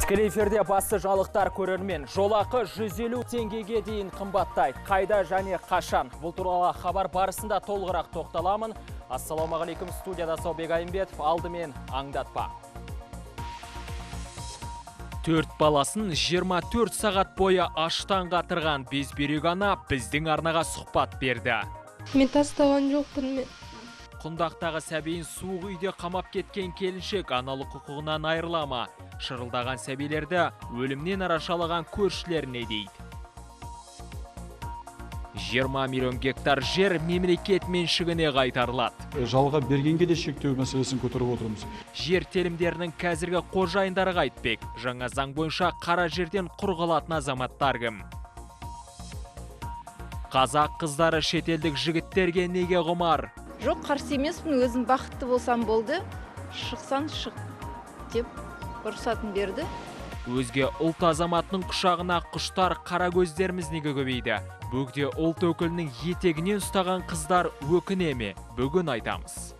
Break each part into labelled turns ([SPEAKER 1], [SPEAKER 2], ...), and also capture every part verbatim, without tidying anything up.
[SPEAKER 1] Тікелей эфирде басты жалықтар көрермен. Жолақы жүз елу теңгеге дейін қымбаттайды. Қайда және қашан? Бұл туралы хабар барысында толығырақ тоқталамын. Ассалаумағалейкум, студияда Саубек Айымбетов, алдымен аңдатпа. Төрт баласын жиырма төрт сағат бойы аштан қатырған безбүйрек ана біздің арнаға сұхбат берді.
[SPEAKER 2] Мен тастаған жоқпын мен.
[SPEAKER 1] Құндақтағы сәбейін суық үйде қамап кеткен келіншек аналық құқығынан айырылама. Шырылдаған сәбилерді өлімнен арашалаған көршілер не дейді? жиырма миллион гектар жер мемлекет меншігіне қайтарылады.
[SPEAKER 3] Жалға бергенге де шектеу мәселесін көтеріп отырмыз.
[SPEAKER 1] Жер телімдерінің қазіргі қожайындары қайтпек. Жаңа заң бойынша қара жерден құр қалатын азаматтар кім? Қазақ қыздары шетелдік жігіттерге неге құмар?
[SPEAKER 4] Жоқ, қарсы емеспін, өзім бақытты болсам болды. Шықсан шық деп рұқсатын берді.
[SPEAKER 1] Өзге ұлт азаматының құшағына құштар қара көздеріміз неге көбейді? Бөгде ұлт өкілінің етегінен ұстаған қыздар өкіне ме? Бүгін айтамыз.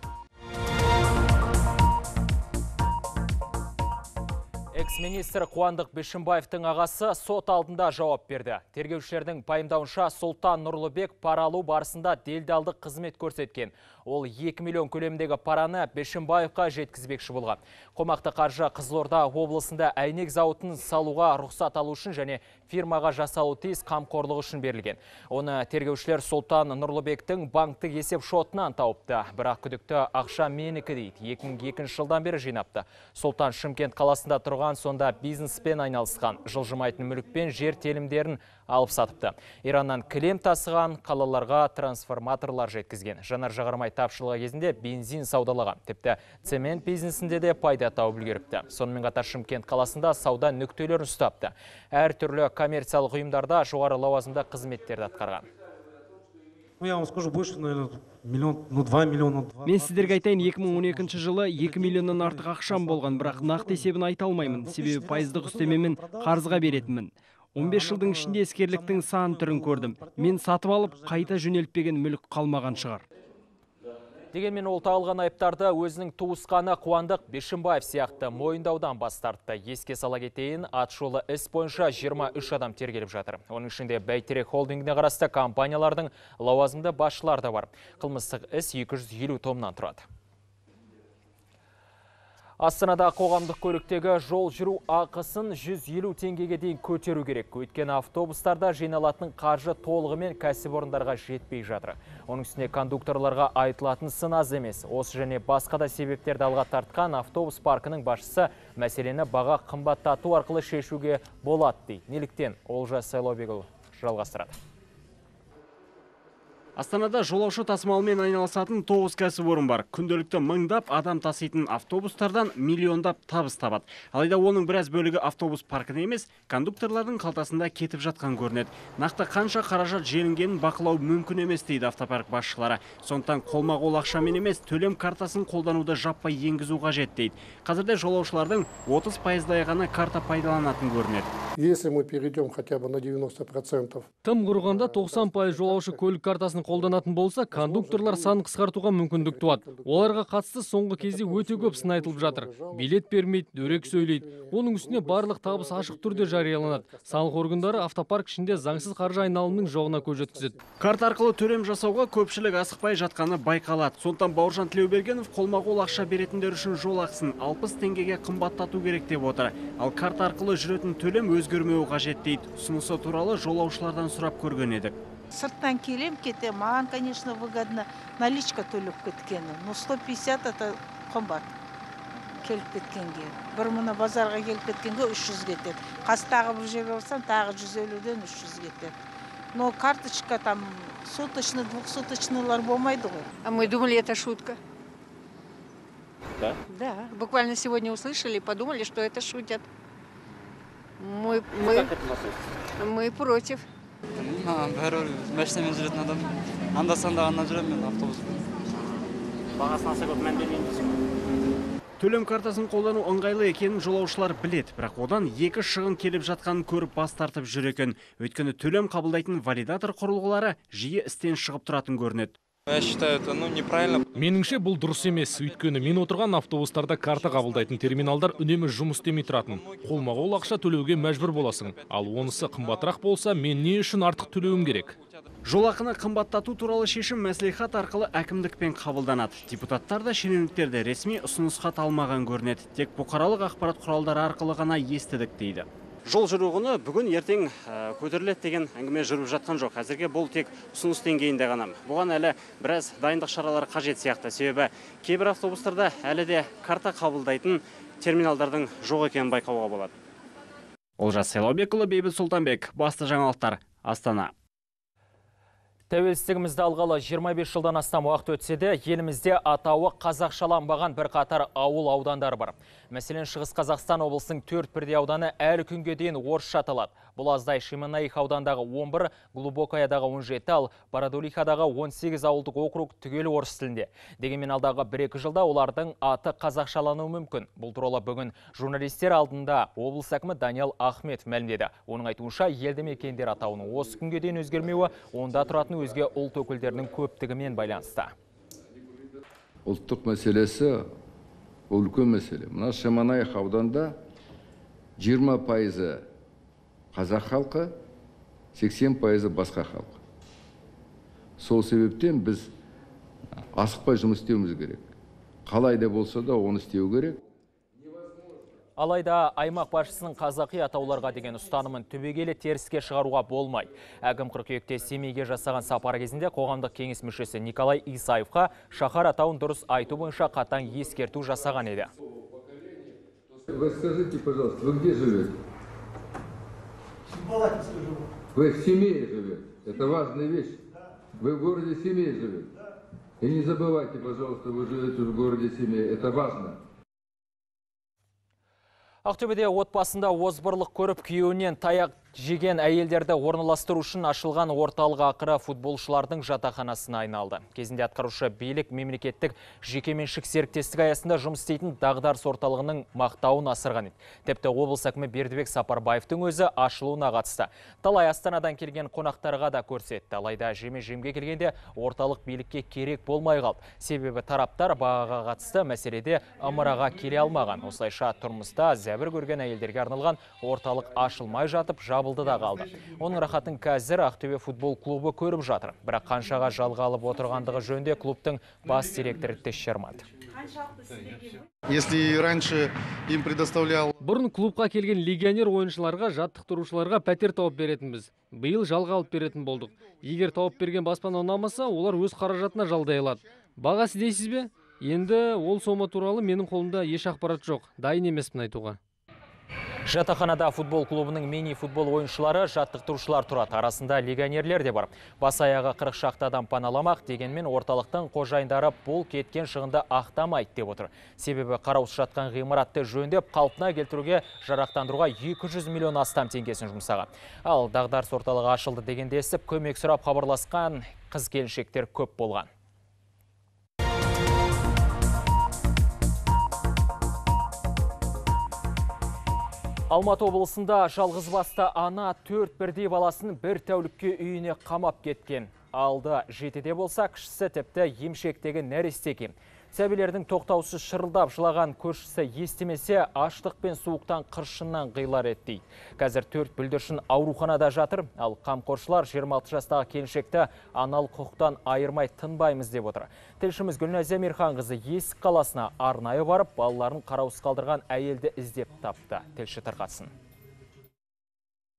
[SPEAKER 1] Экс-министр Қуандық Бишімбаевтың ағасы сот алдында жауап берді. Тергеушілердің пайымдауынша Сұлтан Нұрлыбек пара алу барысында делдалдық қызмет көрсеткен. Ол екі миллион көлемдегі параны Бишімбаевқа жеткізбекші болған. Қомақты қаржы Қызылорда облысында әйнек зауытын салуға рұқсат алу үшін және фирмаға жасалу тиіс қамқорлығы үшін берілген. Оны тергеушілер Сұлтан Нұрлыбектің банктік есеп шотынан тауыпты. Бірақ күдікті ақша менікі дейді. екі мың екінші жылдан бері жинапты. Сұлтан Шымкент қаласында тұрған, сонда бизнеспен айналысқан, жылжымайтын мүлікпен жер телімдерін алып сатыпты. Ираннан кілем тасыған, қалаларға трансформаторлар жеткізген. Жанар жағармай тапшылығы кезінде бензин саудалаған. Тіпті цемент бизнесінде де пайда тауып үлгеріпті. Сонымен қатар Шымкент қаласында сауда нүктелерін ұстапты. Әр түрлі коммерциялық ұйымдарда жоғары лауазымда қызметтерді атқарған.
[SPEAKER 5] Я вам скажу больше, наверное, миллион, ну два миллиона.
[SPEAKER 6] Мен сіздерге айтайын, екі мың он екінші жылы екі миллионнан артық ақшам болған, бірақ нақты есебін айта алмаймын. Себебі пайыздық үстемемен қарызға беретінмін. он бес жылдың ішінде ескерліктің сан түрін көрдім. Мен сатып алып, қайта жөнелтпеген мүлік қалмаған шығар.
[SPEAKER 1] Дегенмен ол тағылған айыптарды өзінің туысқаны Қуандық Бишімбаев сияқты мойындаудан бас тартты. Еске сала кетейін, атышулы іс бойынша жиырма үш адам тергеліп жатыр. Оның ішінде Бәйтерек холдингіне қарасты компаниялардың лауазымды басшылары да бар. Қылмыстық іс екі жүз елу томнан тұрады. Астанада қоғамдық көліктегі жол жүру ақысын жүз елу теңгеге дейін көтеру керек. Өйткені автобустарда жиналатын қаржы толығымен кәсіпорындарға жетпей жатыр. Оның үстіне кондукторларға айтылатын сын аз емес. Осы және басқа да себептерді алға тартқан автобус паркінің басшысы мәселені баға қымбаттату арқылы шешуге болады дейді. Неліктен? Олжас Сайлаубекұлы жалғастырады.
[SPEAKER 6] Астанада жолаушы тасымалымен айналысатын тоғыз кәсіпорын бар. Күнделікті мыңдап адам таситын автобустардан миллиондап табыс табады. Алайда оның біраз бөлігі автобус паркіне емес, кондукторлардың қалтасында кетіп жатқан көрінеді. Нақты қанша қаражат желінгенін бақылау мүмкін емес дейді автопарк басшылары. Сондықтан қолма-қол ақшамен емес, төлем картасын қолдануды жаппай енгізу қажет дейді. Қазірде жолаушылардың отыз пайыздай ғана карта пайдаланатын көрінеді.
[SPEAKER 7] Если мы перейдем хотя бы на девяносто процентов.
[SPEAKER 6] Тым құрғанда тоқсан пайыз жолаушы көлік картасын қолданатын болса, кондукторлар санын қысқартуға мүмкіндік туады. Оларға қатысты соңғы кезде өте көп сын айтылып жатыр. Билет бермейді, дөрекі сөйлейді. Оның үстіне барлық табыс ашық түрде жарияланады. Салық органдары автопарк ішінде заңсыз қаржы айналымының жоғына көз жеткізеді. Карта арқылы төлем жасауға көпшілік асықпай жатқаны байқалады. Сондықтан Бауыржан Тілеубергенов қолма-қол ақша беретіндер үшін жол ақысын алпыс теңгеге қымбаттату керек деп отыр. Ал карта арқылы жүретін төлем өзгермеуі қажет дейді. Ұсынысы туралы жолаушылардан сұрап көрген едік.
[SPEAKER 8] Сырттан келем кете, маған, конечно, выгодно наличка төлеп кеткені. Но сто пятьдесят это қымбат келіп кеткенге. Бір мұны базарға келіп кеткенге үш жүз кетеді. Қастағы бір жерге барсам, тағы жүз елуден үш жүз кетеді. Но карточка там суточный, двухсуточныйлар болмайды ғой.
[SPEAKER 9] А мы думали, это шутка.
[SPEAKER 1] Да?
[SPEAKER 9] Да. Буквально сегодня услышали и подумали, что это шутят. Мы, мы,
[SPEAKER 1] Как это относится?
[SPEAKER 9] мы против.
[SPEAKER 10] Бәрі мәшінемен жүретін адам. Анда-санда ғана жүремін мен автобуспен.
[SPEAKER 1] Бағасын аса көп мән бермейміз.
[SPEAKER 6] Төлем картасын қолдану ыңғайлы екенін жолаушылар білет, бірақ одан екі шығын келіп жатқанын көріп бас тартып жүр екен. Өйткені төлем қабылдайтын валидатор құрылғылары жиі істен шығып тұратын көрінеді.
[SPEAKER 10] Я считаю, это ну, неправильно.
[SPEAKER 6] Меніңше бұл дұрыс емес, өйткені мен отырған автобустарда карта қабылдайтын терминалдар үнемі жұмыс істемей тұратын. Қолма-қол ақша төлеуге мәжбүр боласың. Ал онысы қымбатырақ болса, мен не үшін артық төлеуім керек?
[SPEAKER 11] Жолақыны қымбаттату туралы шешім мәслихат арқылы әкімдікпен қабылданады. Депутаттар да шенеуніктерді ресми ұсыныс хат алмаған көрінеді. Тек бұқаралық ақпарат құралдары арқылы ғана естідік дейді. Жол жүру құны бүгін ертең көтеріледі деген әңгіме жүріп жатқан жоқ. Әзірге бұл тек ұсыныс деңгейінде ғана. Бұған әлі біраз дайындық шаралары қажет сияқты. Себебі кейбір автобустарда әлі де карта қабылдайтын терминалдардың жоқ екенін байқауға болады. Олжас Сайлаубекұлы, Бейбіт Сұлтанбек, басты жаңалықтар, Астана.
[SPEAKER 1] Тәуелсіздігімізді алғалы жиырма бес жылдан астам уақыт өтсе де, елімізде атауы қазақшаланбаған бір қатар ауыл аудандары бар. Мәселен, Шығыс Қазақстан облысының төрт бірдей ауданы әлі күнге дейін орысша аталады. Бұл аздай Шемонаих аудандағы он бір, Глубокаядағы он жеті, ал Бородулихадағы он сегіз ауылдық округ түгел орыс тілінде. Дегенмен алдағы бір-екі жылда олардың аты қазақшалануы мүмкін. Бұл туралы бүгін журналистер алдында облыс әкімі Даниал Ахметов мәлімдеді. Оның айтуынша, елді мекендер атауының осы күнге дейін өзгермеуі онда тұратын өзге ұлт өкілдерінің көптігімен байланысты.
[SPEAKER 12] Ұлттық мәселесі үлкен мәселе. Мына Шемонаих ауданында жиырма пайызы қазақ халқы, сексен пайызы басқа халық. Сол себептен біз асықпай жұмыс істеуіміз керек. Қалай да болса да оны істеу керек.
[SPEAKER 1] Алайда аймақ басшысының қазақи атауларға деген ұстанымын түбегейлі теріске шығаруға болмайды. Әкім қыркүйекте Семейге жасаған сапары кезінде қоғамдық кеңес мүшесі Николай Исаевқа шаһар атауын дұрыс айту бойынша қатаң ескерту жасаған еді.
[SPEAKER 12] Вы скажите, пожалуйста, вы где живете? Вы в Семее живете. Это важная вещь. Вы в городе Семей живете. И не забывайте, пожалуйста, вы живете в городе Семей. Это важно.
[SPEAKER 1] Ақтөбеде отбасында озбырлық көріп күйеуінен таяқ жеген әйелдерді орналастыру үшін ашылған орталық ақыры футболшылардың жатақханасына айналды. Кезінде атқарушы билік мемлекеттік жекеменшік серіктестік аясында жұмыс істейтін дағдарыс орталығының мақтауын асырған еді. Тіпті облыс әкімі Бердібек Сапарбаевтың өзі ашылуына қатысты. Талай Астанадан келген қонақтарға да көрсетті. Алайда жеме-жемге келгенде орталық билікке керек болмай қалды. Себебі тараптар бағаға қатысты мәселеде ымыраға келе алмаған. Осылайша тұрмыста зәбір көрген әйелдерге арналған орталық ашылмай жатып жабылды да қалды. Оның рахатын қазір Ақтөбе футбол клубы көріп жатыр. Бірақ қаншаға жалға алып отырғандығы жөнінде клубтың бас директоры тексермеді.
[SPEAKER 13] Если раньше им предоставлял...
[SPEAKER 6] Бұрын клубқа келген легионер ойыншыларға, жаттықтырушыларға пәтер тауып беретінбіз. Биыл жалға алып беретін болдық. Егер тауып берген баспана ұнамаса, олар өз қаражатына жалдай алады. Бағасы дейсіз бе? Енді ол сома туралы менің қолымда еш ақпарат жоқ. Дайын емеспін айтуға.
[SPEAKER 1] Жатақханада футбол клубының мини-футбол ойыншылары, жаттықтырушылар тұрады. Арасында легионерлер де бар. Бас аяғы қырық шақты адам паналамақ, дегенмен орталықтың қожайындары бұл кеткен шығынды ақтамайды деп отыр. Себебі қараусыз жатқан ғимаратты жөндеп, қалпына келтіруге жарақтандыруға екі жүз миллион астам теңгесін жұмсаған. Ал дағдарыс орталығы ашылды дегенде естіп, көмек сұрап хабарласқан қыз-келіншектер көп болған. Алматы облысында жалғызбасты ана төрт бірдей баласын бір тәулікке үйіне қамап кеткен. Алды жетіде болса, кішісі тіпті емшектегі нәресте екен. Сәбилердің тоқтаусыз шырылдап жылаған көршісі естімесе, аштық пен суықтан қыршыннан қиылар еді. Қазір төрт бүлдіршін ауруханада жатыр, ал қамқоршылар жиырма алты жастағы келіншекті аналық құқықтан айырмай тынбаймыз деп отыр. Тілшіміз Гүлназия Мирханқызы Есік қаласына арнайы барып, балаларын қараусыз қалдырған әйелді іздеп тапты. Тілші тарқатсын.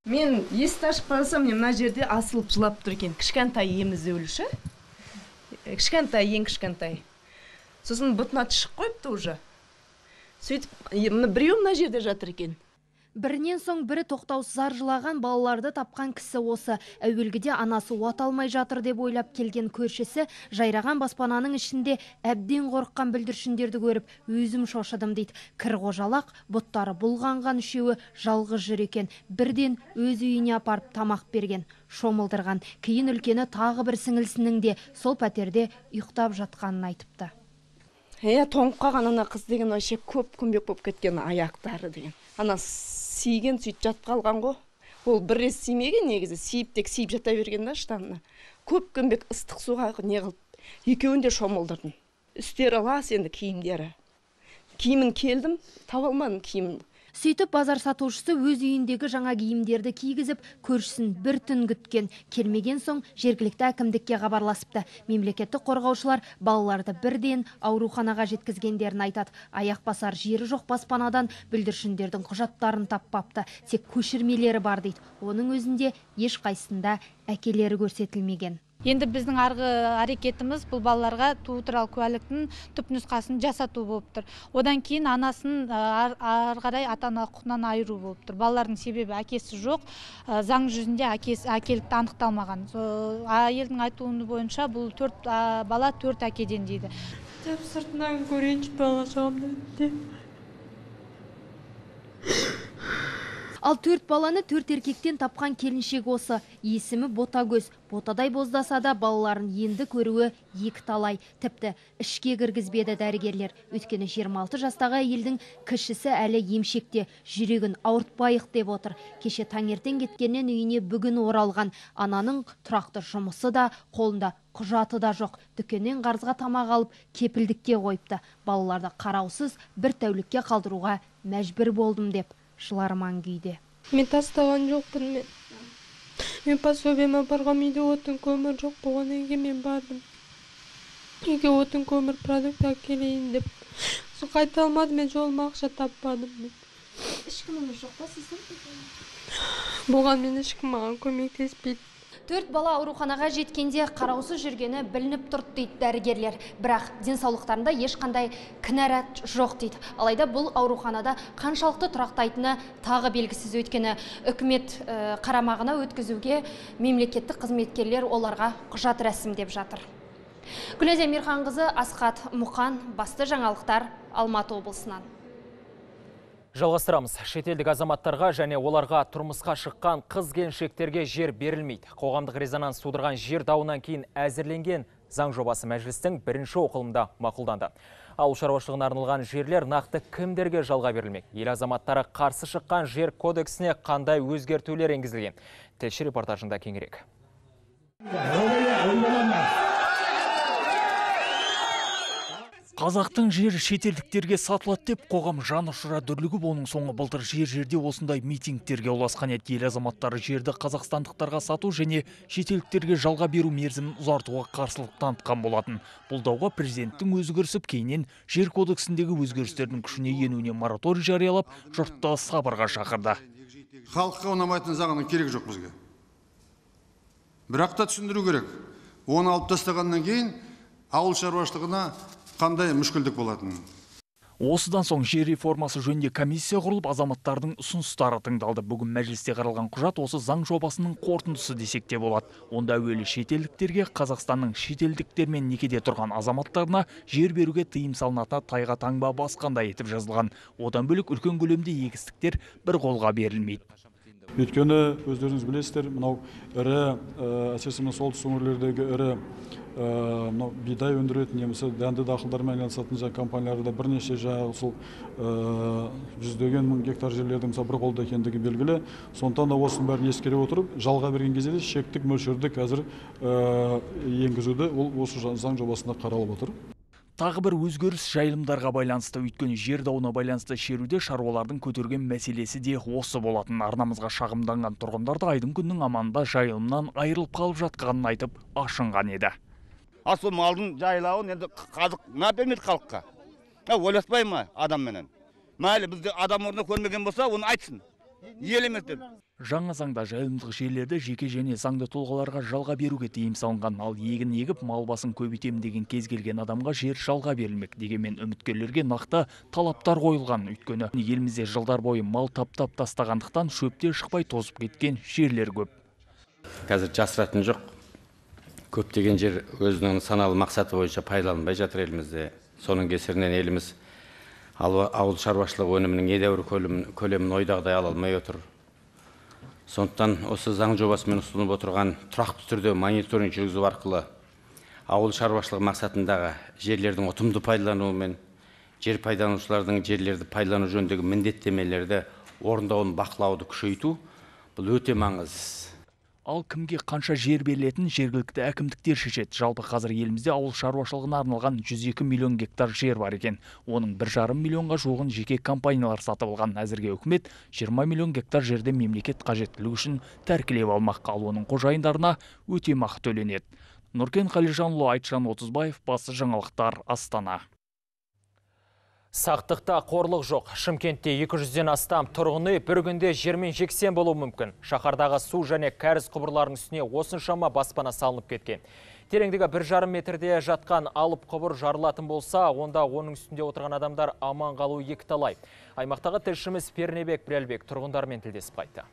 [SPEAKER 14] Мен есікті ашып қарасам, мына жерде асылып жылап тұр екен. Кішкентай емізі өліші. Кішкентай, ең кішкентай. Сосын бұтына түшіп қойыпты уже. Сөйтіп, біреу мына жерде жатыр екен.
[SPEAKER 15] Бірінен соң бірі тоқтаусыз аржылаған балаларды тапқан кісі осы. Әуелгіде анасы уат алмай жатыр деп ойлап келген көршісі жайраған баспананың ішінде әбден қорыққан бүлдіршіндерді көріп, өзім шошыдым дейді. Кір қожалақ, бұттары бұлғанған үшеуі жалғыз жүр екен. Бірден өз үйіне апарып тамақ берген, шомылдырған. Кейін үлкені тағы бір сіңілісінің де сол пәтерде ұйықтап жатқанын айтыпты.
[SPEAKER 14] Е, тоңып қалған ана қыз деген вообще көп көмбек болып кеткен аяқтары деген. Ана сүйген сөйтіп жатып қалған ғой. Ол бір рет сүймеген негізі, сүйіп тек сүйіп жата берген да штанына. Көп көмбек ыстық суға не қылып екеуін де шомылдырдым. Үстері лас енді киімдері. Киімін келдім, таба алмадым киімін.
[SPEAKER 15] Сөйтіп базар сатушысы өз үйіндегі жаңа киімдерді кигізіп, көршісін бір түн күткен. Келмеген соң жергілікті әкімдікке хабарласыпты. Мемлекеттік қорғаушылар балаларды бірден ауруханаға жеткізгендерін айтады. Аяқ басар жері жоқ баспанадан бүлдіршіндердің құжаттарын таппапты. Тек көшірмелері бар дейді. Оның өзінде еш қайсында әкелері көрсетілмеген.
[SPEAKER 16] Енді біздің арғы әрекетіміз бұл балаларға туу туралы куәліктің түпнұсқасын жасату болып тұр. Одан кейін анасын ары қарай ата-аналық құқығынан айыру болып тұр. Балалардың себебі әкесі жоқ, заң жүзінде әкесі әкелікті анықталмаған. Әйелдің айтуы бойынша бұл төрт бала төрт әкеден дейді.
[SPEAKER 2] Деп сыртынан көрейінші бала жағымды.
[SPEAKER 15] Ал төрт баланы төрт еркектен тапқан келіншек осы. Есімі Ботагөз. Ботадай боздаса да балаларын енді көруі екі талай. Тіпті ішке кіргізбеді дәрігерлер. Өйткені жиырма алты жастағы әйелдің кішісі әлі емшекте, жүрегін ауыртпайық деп отыр. Кеше таңертең кеткеннен үйіне бүгін оралған. Ананың тұрақты жұмысы да, қолында құжаты да жоқ. Дүкеннен қарызға тамақ алып, кепілдікке қойыпты. Балаларды қараусыз бір тәулікке қалдыруға мәжбүр болдым деп жыларман күйде.
[SPEAKER 2] Мен тастаған жоқпын мен. Мен пособиеме барғам, үйде отын көмір жоқ болғаннан кейін мен бардым. Үйге отын көмір продукт әкелейін деп. Сол қайта алмадым, мен жолыма ақша таппадым.
[SPEAKER 15] Ешкіміңіз жоқ па сіздің?
[SPEAKER 2] Болған мен ешкім маған көмектеспейді.
[SPEAKER 15] Төрт бала ауруханаға жеткенде қараусыз жүргені білініп тұрды дейді дәрігерлер. Бірақ денсаулықтарында ешқандай кінәрат жоқ дейді. Алайда бұл ауруханада қаншалықты тұрақтайтыны тағы белгісіз. Өйткені үкімет қарамағына өткізуге мемлекеттік қызметкерлер оларға құжат рәсімдеп жатыр. Гүлназия Мирханқызы, Асхат Мұқан, басты жаңалықтар Алматы облысынан.
[SPEAKER 1] Жалғастырамыз. Шетелдік азаматтарға және оларға тұрмысқа шыққан қыз-келіншектерге жер берілмейді. Қоғамдық резонанс тудырған жер дауынан кейін әзірленген заң жобасы мәжілістің бірінші оқылымда мақұлданды. Ауыл шаруашылығына арналған жерлер нақты кімдерге жалға берілмек? Ел азаматтары қарсы шыққан жер кодексіне қандай өзгертулер енгізілген? Тілші репортажында кеңірек.
[SPEAKER 17] Қазақтың жер шетелдіктерге сатылады деп қоғам жан ұшыра дүрлігіп, оның соңы былтыр жер-жерде осындай митингтерге ұласқан еді. Ел азаматтары жерді қазақстандықтарға сату және шетелдіктерге жалға беру мерзімін ұзартуға қарсылық танытқан болатын. Бұл дауға президенттің өзі кірісіп, кейіннен жер кодексіндегі өзгерістердің күшіне енуіне мораторий жариялап, жұртты сабырға шақырды.
[SPEAKER 18] Халыққа ұнамайтын заңның керек жоқ бізге. Бірақ та түсіндіру керек. Оны алып тастағаннан кейін ауыл шаруашылығына қандай мүшкілдік болатын.
[SPEAKER 17] Осыдан соң жер реформасы жөнінде комиссия құрылып, азаматтардың ұсыныстары тыңдалды. Бүгін мәжілісте қаралған құжат осы заң жобасының қорытындысы десек те болады. Онда әуелі шетелдіктерге, Қазақстанның шетелдіктермен некеде тұрған азаматтарына жер беруге тыйым салынатына тайға таңба басқандай етіп жазылған. Одан бөлек үлкен көлемде егістіктер бір қолға берілмейді.
[SPEAKER 3] Өйткені өздеріңіз білесіздер, мынау ірі, әсіресе солтүстік өңірлердегі ірі бидай өндіретін немесе дәнді дақылдармен айналысатын жаңа компанияларда бірнеше жаңағы сол жүздеген мың гектар жерлердің бір қолда екендігі белгілі. Сондықтан да осының бәрін ескере отырып, жалға берген кезде шектік мөлшерді қазір енгізуді ол осы заң жобасында қаралып отыр.
[SPEAKER 17] Тағы бір өзгеріс жайылымдарға байланысты. Өйткені жер дауына байланысты шеруде шаруалардың көтерген мәселесі де осы болатын. Арнамызға шағымданған тұрғындарды айдың күннің аманында жайылымнан айырылып қалып жатқанын айтып ашынған еді.
[SPEAKER 19] Асыл малдың жайлауын енді қазық на бермейді халыққа. Ойласпай ма адам менен? Мәлі бізді адам орнына көрмеген болса, оны айтсын. Ел емес деп.
[SPEAKER 17] Жаңа заңда жайылымдық жерлерді жеке және заңды тұлғаларға жалға беруге тыйым салынған. Ал егін егіп мал басын көбейтем деген кез келген адамға жер жалға берілмек. Дегенмен үміткерлерге нақты талаптар қойылған. Өйткені елімізде жылдар бойы мал таптап тастағандықтан шөпте шықпай тозып кеткен жерлер көп.
[SPEAKER 20] Қазір жасыратын жоқ. Көптеген жер өзінің саналы мақсаты бойынша пайдаланбай жатыр елімізде. Соның кесірінен еліміз ауыл шаруашылығы өнімінің едәуір көлемін ойдағыдай ала алмай отыр. Сондықтан осы заң жобасымен ұсынылып отырған тұрақты түрде мониторинг жүргізу арқылы ауыл шаруашылығы мақсатындағы жерлердің ұтымды пайдалануы мен жер пайдаланушылардың жерлерді пайдалану жөніндегі міндеттемелерді орындауын бақылауды күшейту бұл өте маңызды.
[SPEAKER 17] Ал кімге қанша жер берілетін жергілікті әкімдіктер шешеді. Жалпы қазір елімізде ауыл шаруашылығына арналған жүз екі миллион гектар жер бар екен. Оның бір жарым миллионға жуығын жеке компаниялар сатып алған. Әзірге үкімет жиырма миллион гектар жерде мемлекет қажеттілігі үшін тәркілеп алмақ, ал оның қожайындарына өтемақы төленеді. Нұркен Қалижанұлы, Айтжан Отызбаев, Басты жаңалықтар, Астана.
[SPEAKER 1] Сақтықта қорлық жоқ. Шымкентте екі жүзден астам тұрғын үй бір күнде жермен жексен болуы мүмкін. Шаһардағы су және кәріз құбырларының үстіне осыншама баспана салынып кеткен. Тереңдігі бір жарым метрде жатқан алып құбыр жарылатын болса, онда оның үстінде отырған адамдар аман қалуы екіталай. Аймақтағы тілшіміз Пернебек Біләлбек тұрғындармен тілдесіп қайтты.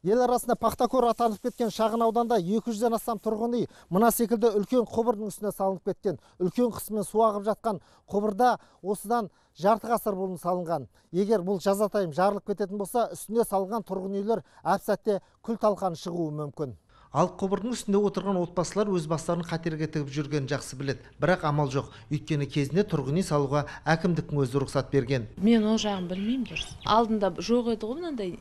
[SPEAKER 21] Ел арасында Пақтакор атанып кеткен шағын ауданда екі жүзден астам тұрғын үй мына секілді үлкен құбырдың үстіне салынып кеткен. Үлкен қысымен су ағып жатқан құбырда осыдан жарты ғасыр бұрын салынған. Егер бұл жазатайым жарылып кететін болса, үстіне салынған тұрғын үйлер әп-сәтте күл талқан шығуы мүмкін. Ал құбырдың үстінде отырған отбасылар өз бастарын қатерге тігіп жүрген жақсы біледі. Бірақ амал жоқ. Өйткені кезінде тұрғын үй салуға әкімдіктің өзі рұқсат берген.
[SPEAKER 22] Мен ол жағын білмеймін дұрыс. Алдында жоқ еді ғой мынандай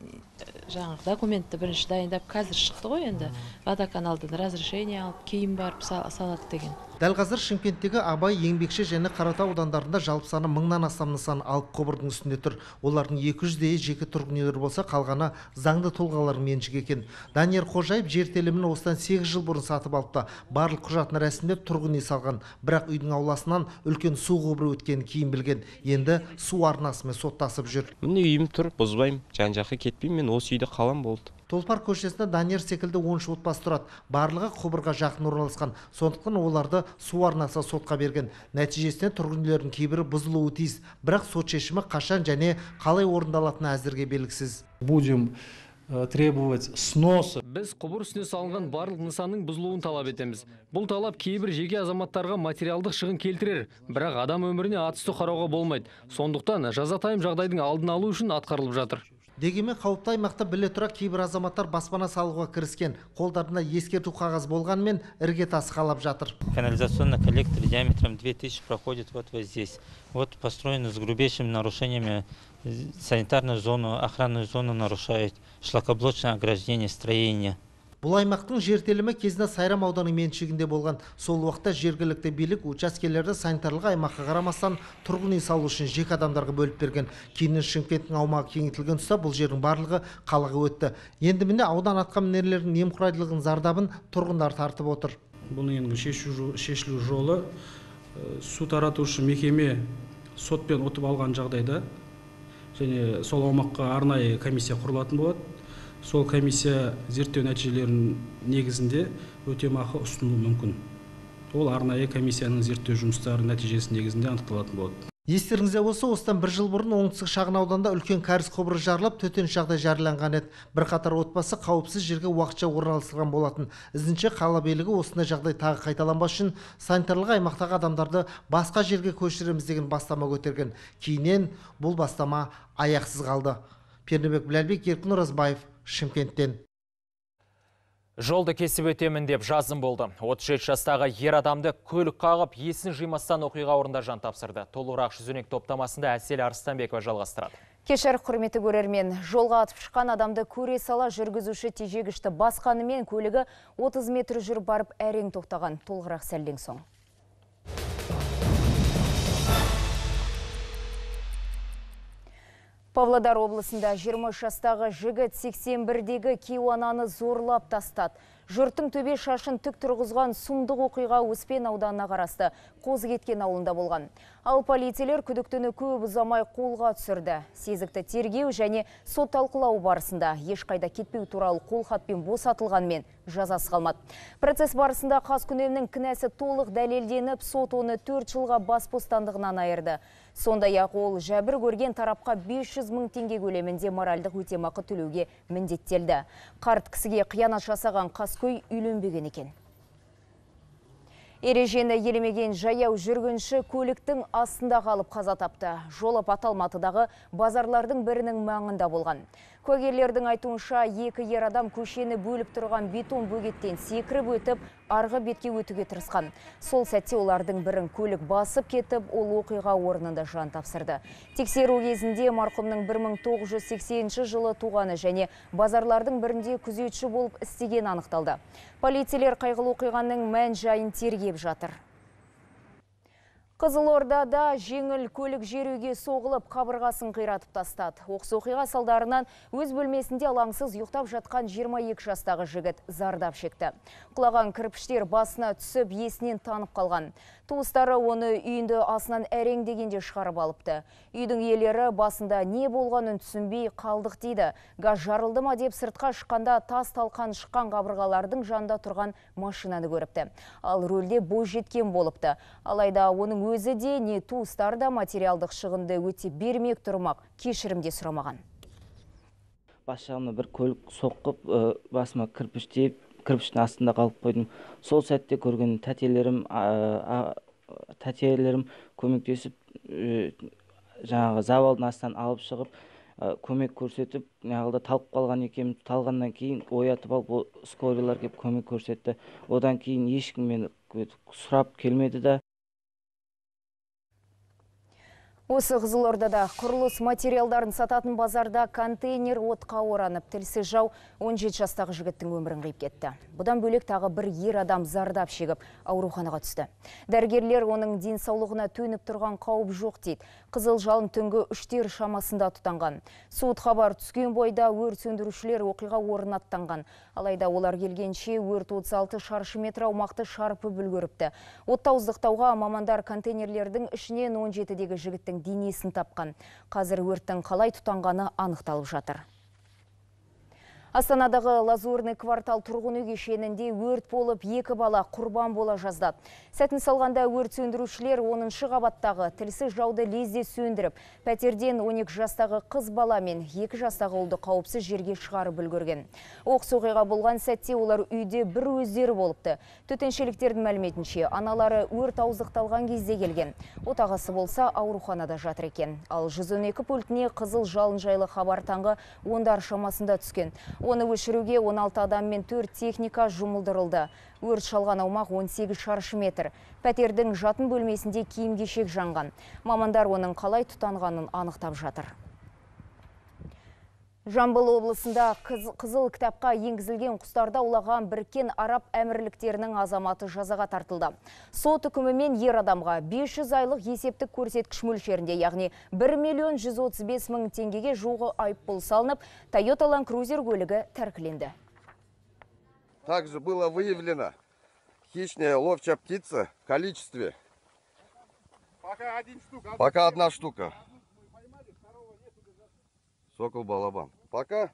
[SPEAKER 22] жаңағы документті бірінші дайындап, қазір шықты ғой енді. Водоканалдан разрешение алып, кейін барып салады деген.
[SPEAKER 21] Дәл қазір Шымкенттегі Абай, Еңбекші және Қаратау аудандарында жалпы саны мыңнан астам нысан алып құбырдың үстінде тұр. Олардың екі жүздейі жеке тұрғын үйлер болса, қалғаны заңды тұлғалар меншік екен. Данияр Қожаев жер телімін осыдан сегіз жыл бұрын сатып алыпты. Барлық құжатын рәсімдеп тұрғын үй салған. Бірақ үйдің ауласынан үлкен су құбыры өткенін кейін білген. Енді су арнасымен соттасып жүр.
[SPEAKER 23] Міне үйім тұр, бұзбаймын. Жан-жаққа кетпеймін, мен осы үйде қалам болды.
[SPEAKER 21] Толпар көшесінде Данияр секілді он үш отбасы тұрады. Барлығы құбырға жақын орналасқан. Сондықтан оларды су арнасы сотқа берген. Нәтижесінде тұрғын үйлердің кейбірі бұзылуы тиіс. Бірақ сот шешімі қашан және қалай орындалатыны әзірге белгісіз.
[SPEAKER 24] Будем требовать сноса.
[SPEAKER 6] Біз құбыр үстіне салынған барлық нысанның бұзылуын талап етеміз. Бұл талап кейбір жеке азаматтарға материалдық шығын келтірер, бірақ адам өміріне атысты қарауға болмайды. Сондықтан жазатайым жағдайдың алдын алу үшін атқарылып жатыр.
[SPEAKER 21] Дегенмен қауіпті аймақта біле тұра кейбір азаматтар баспана салуға кіріскен. Қолдарында ескерту қағаз болғанымен ірге тасы қалап жатыр.
[SPEAKER 25] Канализационный коллектор диаметром две тысячи проходит вот, вот здесь. Вот построен с грубейшими нарушениями. Санитарную зону, охранную зону нарушает, шлакоблочное ограждение строения.
[SPEAKER 21] Бұл аймақтың жер телімі кезінде Сайрам ауданының меншігінде болған. Сол уақытта жергілікті билік учаскелерді санитарлық аймаққа қарамастан тұрғын үй салу үшін жеке адамдарға бөліп берген. Кейіннен Шымкенттің аумағы кеңейтілген тұста бұл жердің барлығы қалаға өтті. Енді міне аудан атқамінерлерінің немқұрайдылығының зардабын тұрғындар тартып отыр.
[SPEAKER 26] Бұл енді шешілу жолы су таратушы мекеме сотпен ұтып алған жағдайда және сол аумаққа арнайы комиссия құрылатын болады. Сол комиссия зерттеу нәтижелерінің негізінде өтемақы ұсынуы мүмкін. Ол арнайы комиссияның зерттеу жұмыстары нәтижесі негізінде анықталатын болады.
[SPEAKER 21] Естеріңізде болса, осыдан бір жыл бұрын оңтүстік шағын ауданда үлкен кәріз құбыры жарылып, төтенше жағдай жарияланған еді. Бірқатар отбасы қауіпсіз жерге уақытша орналастырылған болатын. Ізінше қала билігі осындай жағдай тағы қайталанбас үшін санитарлық аймақтағы адамдарды басқа жерге көшіреміз деген бастама көтерген. Кейіннен бұл бастама аяқсыз қалды. Пернебек Біләлбек, Еркін Оразбаев, Шымкенттен.
[SPEAKER 1] Жолды кесіп өтемін деп жазым болды. отыз жеті жастағы ер адамды көлік қағып, есін жимастан оқиға орнында жан тапсырды. Толығырақ жүзінек топтамасында Әсел Арыстанбекова жалғастырады.
[SPEAKER 27] Кешір, құрметті көрермен, жолға атып шыққан адамды көре сала жүргізуші тежегішті басқанымен көлігі отыз метр жүріп барып әрең тоқтаған. Толығырақ сәлден соң. Павлодар облысында жиырма үш жастағы жігіт сексен бірдегі кейуананы зорлап тастады. Жұрттың төбе шашын түк тұрғызған сұмдық оқиға Успен ауданына қарасты Қозыкеткен ауылында болған. Ал полицейлер күдіктіні көп ұзамай қолға түсірді. Сезікті тергеу және сот талқылау барысында ешқайда кетпеу туралы қолхатпен босатылғанмен жазасы қалмады. Процесс барысында Қаскүнемнің кінәсі толық дәлелденіп, сот оны төрт жылға бас бостандығынан айырды. Сондай-ақ ол жәбір көрген тарапқа бес жүз мың теңге көлемінде моральдық өтемақы төлеуге міндеттелді. Қарт кісіге қиянат жасаған қаскөй үйленбеген екен. Ережені елемеген жаяу жүргінші көліктің астында қалып қаза тапты. Жол апаты Алматыдағы базарлардың бірінің маңында болған. Куәгерлердің айтуынша екі ер адам көшені бөліп тұрған бетон бөгеттен секіріп өтіп, арғы бетке өтуге тырысқан. Сол сәтте олардың бірін көлік басып кетіп, ол оқиға орнында жан тапсырды. Тексеру кезінде марқұмның бір мың тоғыз жүз сексенінші жылы туғаны және базарлардың бірінде күзетші болып істеген анықталды. Полицейлер қайғылы оқиғаның мән жайын тергеп жатыр. Қызылордада жеңіл көлік жеруге соғылып, қабырғасын қиратып тастады. Оқыс оқиға салдарынан өз бөлмесінде алаңсыз ұйықтап жатқан жиырма екі жастағы жігіт зардап шекті. Құлаған кірпіштер басына түсіп, есінен танып қалған. Туыстары оны үйінді асынан әрең дегенде шығарып алыпты. Үйдің иелері басында не болғанын түсінбей қалдық дейді. Газ жарылды ма деп сыртқа шыққанда тас талқан шыққан қабырғалардың жанында тұрған машинаны көріпті. Ал рөлде бойжеткен болыпты. Алайда оның өзі де не туыстары да материалдық шығынды өте бермек тұрмақ, кешірімде сұрамаған.
[SPEAKER 4] Бас жағымда бір көлік соққып, басыма кірпіш тиіп, кірпіштің астында қалып қойдым. Сол сәтте көрген тәтелерім, тәтелерім көмектесіп, жаңағы завалдың астынан алып шығып, көмек көрсетіп, неғылда талып қалған екем, талғаннан кейін оятып алып, скорилар кеп көмек көрсетті. Одан кейін ешкім мені сұрап келмеді да.
[SPEAKER 27] Осы Қызылордада құрылыс материалдарын сататын базарда контейнер отқа оранып, тілсіз жау он жеті жастағы жігіттің өмірін қиып кетті. Бұдан бөлек тағы бір ер адам зардап шегіп, ауруханаға түсті. Дәрігерлер оның денсаулығына төніп тұрған қауіп жоқ дейді. Қызыл жалын түнгі үштер шамасында тұтанған. Суыт хабар түскен бойда өрт сөндірушілер оқиға орнына аттанған. Алайда олар келгенше өрт отыз алты шаршы метр аумақты шарпып үлгеріпті. Отты ауыздықтауға мамандар контейнерлердің ішінен он жетідегі жігіттің денесін тапқан. Қазір өрттің қалай тұтанғаны анықталып жатыр. Астанадағы Лазурный квартал тұрғын үй кешенінде өрт болып, екі бала құрбан бола жаздады. Сәтін салғанда өрт сөндірушілер оныншы қабаттағы тілсіз жауды лезде сөндіріп, пәтерден он екі жастағы қыз бала мен екі жастағы ұлды қауіпсіз жерге шығарып үлгерген. Оқыс оқиға болған сәтте олар үйде бір өздері болыпты. Төтеншеліктердің мәліметінше, аналары өрт ауыздықталған кезде келген. Отағасы болса ауруханада жатыр екен. Ал жүз он екі пультіне қызыл жалын жайлы хабар таңғы ондар шамасында түскен. Оны өшіруге он алты адам мен төрт техника жұмылдырылды. Өрт шалған аумақ он сегіз шаршы метр. Пәтердің жатын бөлмесінде киім-кешек жанған. Мамандар оның қалай тұтанғанын анықтап жатыр. Жамбыл облысында қызыл кітапқа енгізілген құстарда аулаған Біріккен Араб Әмірліктерінің азаматы жазаға тартылды. Сот үкімімен ер адамға бес жүз айлық есептік көрсеткіш мөлшерінде, яғни бір миллион жүз отыз бес мың теңгеге жуығы айыппұл салынып, Toyota Land Cruiser көлігі тәркіленді.
[SPEAKER 5] Также было выявлено хищная ловчая птица в количестве. Пока, один штук, Пока одна штука. Сокол-балабан. Пока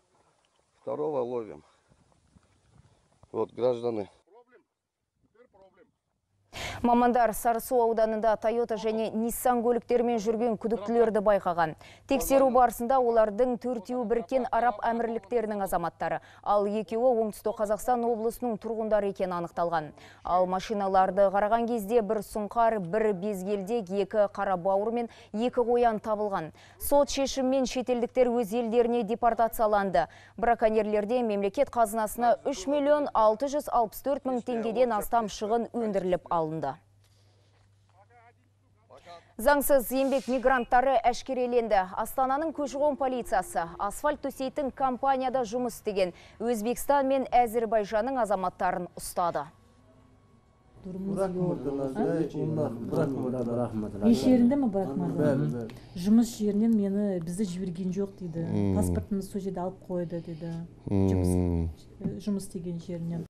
[SPEAKER 5] второго ловим. Вот граждане.
[SPEAKER 27] Мамандар Сарысу ауданында Toyota және Nissan көліктермен жүрген күдіктілерді байқаған. Тексеру барысында олардың төртеуі Біріккен Араб Әмірліктерінің азаматтары, ал екеуі Оңтүстік Қазақстан облысының тұрғындары екені анықталған. Ал машиналарды қараған кезде бір сұңқар, бір безгелдек, екі қара бауыр мен екі қоян табылған. Сот шешіммен шетелдіктер өз елдеріне депортацияланды. Браконьерлерде мемлекет қазынасына үш миллион алты жүз алпыс төрт мың теңгеден астам шығын өндіріліп алынды. Заңсыз еңбек мигранттары әшкереленді. Астананың көші-қон полициясы асфальт төсейтін компанияда жұмыс істеген Өзбекстан мен Әзербайжанның азаматтарын ұстады.
[SPEAKER 7] Еш жерінде ме быrakmadı? Жұмыс жерінен мені бізді жіберген жоқ дейді. Паспортымыз сол жерде алып қойды дейді. Жұмыс істеген жерінен.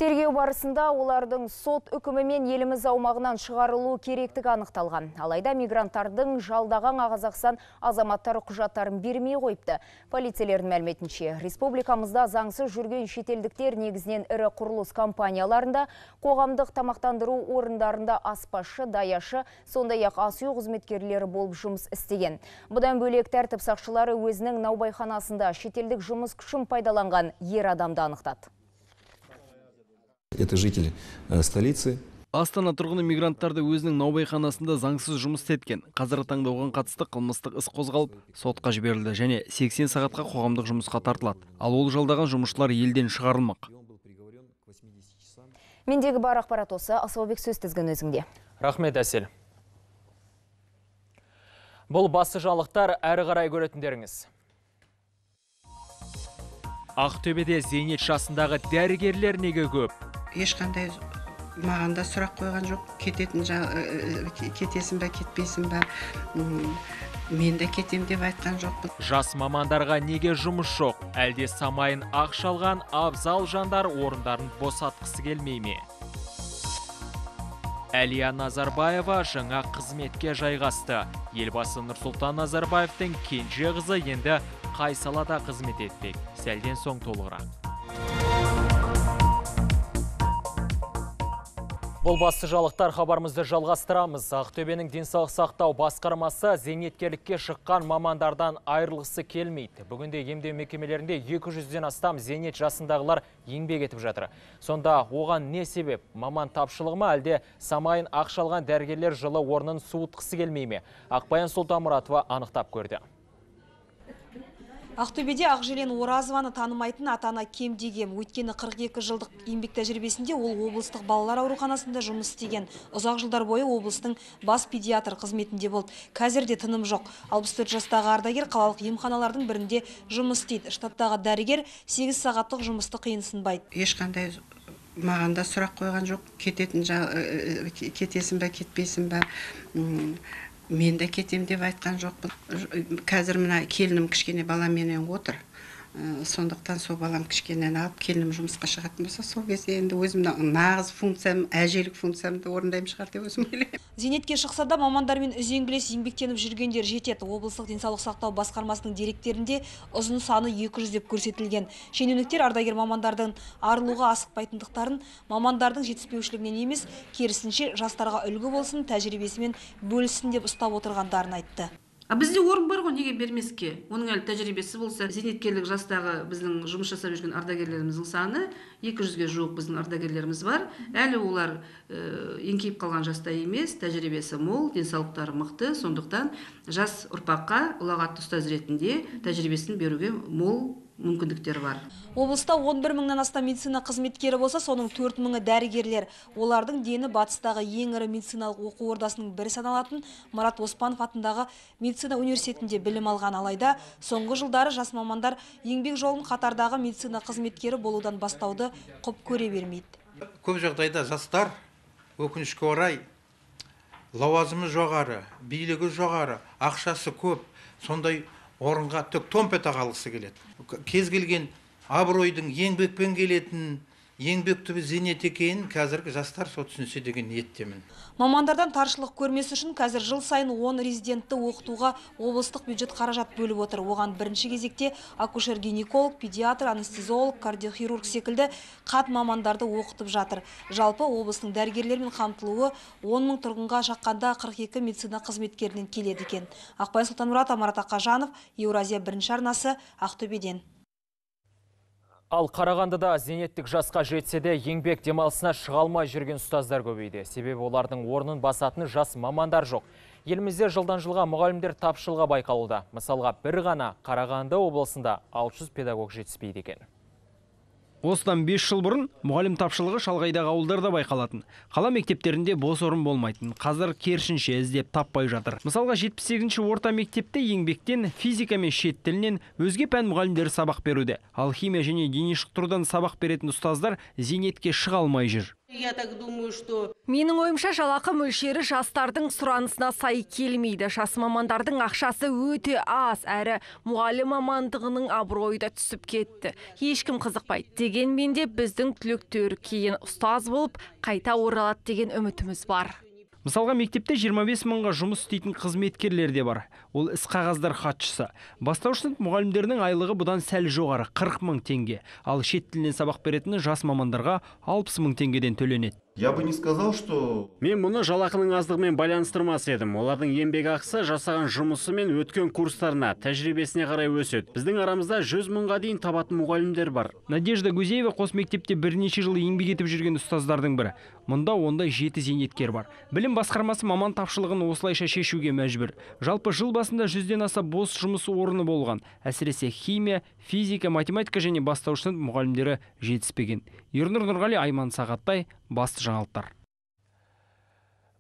[SPEAKER 27] Тергеу барысында олардың сот үкімімен еліміз аумағынан шығарылу керектігі анықталған. Алайда мигранттардың жалдаған Қазақстан азаматтары құжаттарын бермей қойыпты. Полицейлердің мәліметінше, республикамызда заңсыз жүрген шетелдіктер негізінен ірі құрылыс компанияларында, қоғамдық тамақтандыру орындарында аспазшы, даяшы, сондай-ақ ас үй қызметкерлері болып жұмыс істеген. Бұдан бөлек тәртіп сақшылары өзінің наубайханасында шетелдік жұмыс күшін пайдаланған ер адамды анықтады.
[SPEAKER 8] Это жители столицы.
[SPEAKER 6] Астана тұрғыны мигранттарды өзінің наубайханасында заңсыз жұмыс істеткен. Қазіргі таңда оған қатысты қылмыстық іс қозғалып, сотқа жіберілді және сексен сағатқа қоғамдық жұмысқа тартылады. Ал ол жалдаған жұмысшылар елден шығарылмақ.
[SPEAKER 27] Мендегі бар ақпарат осы. Асылбек, сөз тізгін өзіңде.
[SPEAKER 1] Рахмет, Әсел. Бұл басы жаңалықтар, әрі қарай көретіндеріңіз. Ақтөбеде зейнет жасындағы дәрігерлер неге көп?
[SPEAKER 8] Ешқандай маған да сұрақ қойған жоқ. Кететін кетесің бе, кетпейсің бе? Мен де кетем деп айтқан жоқпын.
[SPEAKER 1] Жас мамандарға неге жұмыс жоқ? Әлде самайын ақшалған абзал жандар орындарын босатқысы келмей ме? Әлия Назарбаева жаңа қызметке жайғасты. Елбасы Нұрсұлтан Назарбаевтың кенже қызы енді қай салада қызмет етпек? Сәлден соң толығырақ. Бұл басты жаңалықтар, хабарымызды жалғастырамыз. Ақтөбенің денсаулық сақтау басқармасы зейнеткерлікке шыққан мамандардан айырылғысы келмейді. Бүгінде емдеу мекемелерінде екі жүзден астам зейнет жасындағылар еңбек етіп жатыр. Сонда оған не себеп? Маман тапшылығы ма, әлде самайын ақшалған дәрігерлер жылы орнын суытқысы келмей ме? Ақбаян Сұлтанмұратова анықтап көрді.
[SPEAKER 9] Ақтөбеде Ақжелен Оразованы танымайтын ата-ана кем дегем. Өйткені қырық екі жылдық еңбек тәжірибесінде ол облыстық балалар ауруханасында жұмыс істеген. Ұзақ жылдар бойы облыстың бас педиатр қызметінде болды. Қазірде тыным жоқ. алпыс төрт жастағы ардагер қалалық емханалардың бірінде жұмыс істейді. Штаттағы дәрігер сегіз сағаттық жұмысты қиынсынбайды.
[SPEAKER 8] Ешқандай маған да сұрақ қойған жоқ. Кететін кетесің бе, кетпейсің бе? Мен де кетем деп айтқан жоқпын. Қазір мына келінім кішкене баламенен отыр. Сондықтан сол балам кішкенен алып, келінім жұмысқа шығатын болса, сол кезде енді өзімнің нағыз функциям, әжелік функциямды орындаймын шығар деп өзім ойлаймын.
[SPEAKER 9] Зейнетке шықса да мамандармен үзеңгілес еңбектеніп жүргендер жетеді. Облыстық денсаулық сақтау басқармасының деректерінде ұзын саны екі жүз деп көрсетілген. Шенеуніктер ардагер мамандардың арылуға асықпайтындықтарын, мамандардың жетіспеушілігінен емес, керісінше жастарға үлгі болсын, тәжірибесімен бөлісін деп ұстап отырғандарын айтты.
[SPEAKER 10] А бізде орын бар ғой, неге бермеске? Оның әлі тәжірибесі болса, зейнеткерлік жастағы біздің жұмыс жасап жүрген ардагерлеріміздің саны екі жүзге жуық біздің ардагерлеріміз бар. Әлі олар еңкейіп қалған жаста емес, тәжірибесі мол, денсаулықтары мықты, сондықтан жас ұрпаққа ұлағатты ұстаз ретінде тәжірибесін беруге мол мүмкіндіктер бар.
[SPEAKER 9] Облыста он бір мыңнан астам медицина қызметкері болса, соның төрт мыңы дәрігерлер. Олардың дені батыстағы ең ірі медициналық оқу ордасының бірі саналатын Марат Оспанов атындағы медицина университетінде білім алған. Алайда соңғы жылдары жас мамандар еңбек жолын қатардағы медицина қызметкері болудан бастауды құп көре бермейді.
[SPEAKER 11] Көп жағдайда жастар өкінішке орай лауазымы жоғары, билігі жоғары, ақшасы көп, сондай орынға тек томпета қалғысы келеді. Кез келген абыройдың еңбекпен келетін, еңбек түбі зейнет екенін қазіргі жастар со түсінсе деген ниеттемін.
[SPEAKER 9] Мамандардан таршылық көрмесі үшін қазір жыл сайын он резидентті оқытуға облыстық бюджет қаражат бөліп отыр. Оған бірінші кезекте акушер-гинеколог, педиатр, анестезиолог, кардиохирург секілді қат мамандарды оқытып жатыр. Жалпы облыстың дәрігерлермен қамтылуы он мың тұрғынға шаққанда қырық екі медицина қызметкерінен келеді екен. Ақбаян Сұлтанмұратова, Марат Ақажанов, Еуразия бірінші арнасы, Ақтөбеден.
[SPEAKER 1] Ал Қарағандыда зейнеттік жасқа жетсе де еңбек демалысына шыға алмай жүрген ұстаздар көбейді. Себебі олардың орнын басатын жас мамандар жоқ. Елімізде жылдан жылға мұғалімдер тапшылығы байқалуда. Мысалға бір ғана Қарағанды облысында алты жүз педагог жетіспейді екен.
[SPEAKER 6] Осыдан бес жыл бұрын мұғалім тапшылығы шалғайдағы ауылдарда байқалатын. Қала мектептерінде бос орын болмайтын. Қазір керісінше іздеп таппай жатыр. Мысалға жетпіс сегізінші орта мектепте еңбектен, физика мен шет тілінен өзге пән мұғалімдері сабақ беруде. Ал химия және дене шынықтырудан сабақ беретін ұстаздар зейнетке шыға алмай жүр.
[SPEAKER 12] Я так думаю, что... Менің ойымша жалақы мөлшері жастардың сұранысына сай келмейді. Жас мамандардың ақшасы өте аз, әрі мұғалім мамандығының абыройы да түсіп кетті. Ешкім қызықпайды. Дегенмен де біздің түлектер кейін ұстаз болып қайта оралады деген үмітіміз бар.
[SPEAKER 6] Мысалға мектепте жиырма бес мыңға жұмыс істейтін қызметкерлер де бар. Ол іс қағаздар хатшысы. Бастауыш сынып мұғалімдерінің айлығы бұдан сәл жоғары қырық мың теңге. Ал шет тілінен сабақ беретін жас мамандарға алпыс мың теңгеден төленеді.
[SPEAKER 2] Я бы не сказал, что...
[SPEAKER 3] Мен мұны жалақының аздығымен байланыстырмас едім. Олардың еңбек ақысы жасаған жұмысы мен өткен курстарына, тәжірибесіне қарай өседі. Біздің арамызда жүз мыңға дейін табатын мұғалімдер бар.
[SPEAKER 6] Надежда Гузеева қос мектепте бірнеше жыл еңбек етіп жүрген ұстаздардың бірі. Мұнда ондай жеті зейнеткер бар. Білім басқармасы маман тапшылығын осылайша шешуге мәжбүр. Жалпы жыл басында жүзден аса бос жұмыс орны болған. Әсіресе химия, физика, математика және бастауыш сынып мұғалімдері жетіспеген. Ернұр Нұрғали, Айман Сағаттай, басты жаңалықтар.